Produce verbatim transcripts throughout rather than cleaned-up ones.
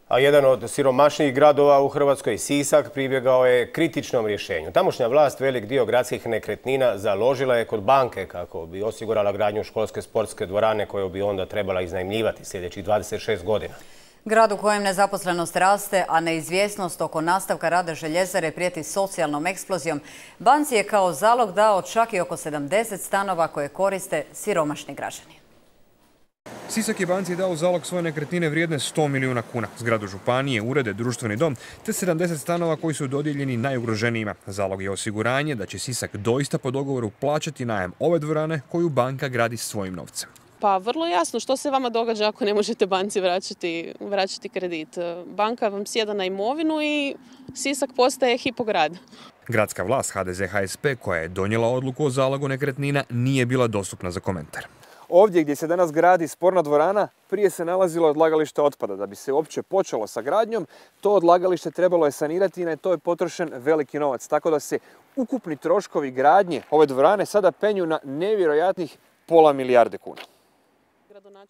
A jedan od siromašnijih gradova u Hrvatskoj, Sisak, pribjegao je kritičnom rješenju. Tamošnja vlast velik dio gradskih nekretnina založila je kod banke kako bi osigurala gradnju školske sportske dvorane koju bi onda trebala iznajmljivati sljedećih dvadeset šest godina. Grad u kojem nezaposlenost raste, a neizvjesnost oko nastavka rada željezare prijeti socijalnom eksplozijom, banci je kao zalog dao čak i oko sedamdeset stanova koje koriste siromašni građani. Sisak je banci dao zalog svoje nekretnine vrijedne sto milijuna kuna, zgradu županije, urede, društveni dom, te sedamdeset stanova koji su dodijeljeni najugroženijima. Zalog je osiguranje da će Sisak doista po dogovoru plaćati najam ove dvorane koju banka gradi svojim novcem. Pa vrlo jasno što se vama događa ako ne možete banci vraćati, vraćati kredit. Banka vam sjeda na imovinu i Sisak postaje hipograd. Gradska vlast ha de ze ha es pe koja je donijela odluku o zalogu nekretnina nije bila dostupna za komentar. Ovdje gdje se danas gradi sporna dvorana, prije se nalazilo odlagalište otpada. Da bi se uopće počelo sa gradnjom, to odlagalište trebalo je sanirati i na to je potrošen veliki novac. Tako da se ukupni troškovi gradnje ove dvorane sada penju na nevjerojatnih pola milijarde kuna.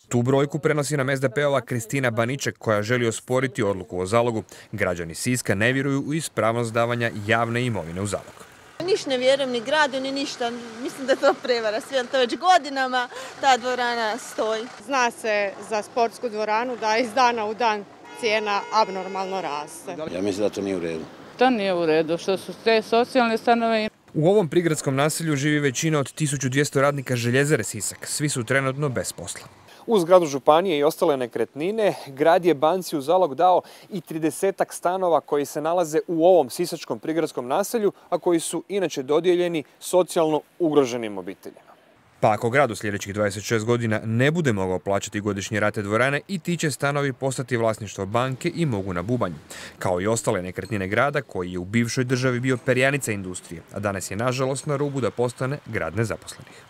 Tu brojku prenosi nam es de pe-ova Kristina Baniček koja želi osporiti odluku o zalogu. Građani Siska ne vjeruju u ispravnost davanja javne imovine u zalog. Niš ne vjerujem ni gradu ni ništa, mislim da je to prevara, sve to već godinama ta dvorana stoji. Zna se za sportsku dvoranu da iz dana u dan cijena abnormalno raste. Ja mislim da to nije u redu. To nije u redu, što su te socijalne stanove. U ovom prigradskom naselju živi većina od tisuću dvjesto radnika željezare Sisak. Svi su trenutno bez posla. Uz zgradu županije i ostale nekretnine, grad je banci u zalog dao i tridesetak stanova koji se nalaze u ovom sisačkom prigradskom naselju, a koji su inače dodijeljeni socijalno ugroženim obiteljima. Pa ako grad u sljedećih dvadeset šest godina ne bude mogao plaćati godišnje rate dvorane, i ti će stanovi postati vlasništvo banke i mogu na bubanj. Kao i ostale nekretnine grada koji je u bivšoj državi bio perjanica industrije, a danas je nažalost na rubu da postane grad nezaposlenih.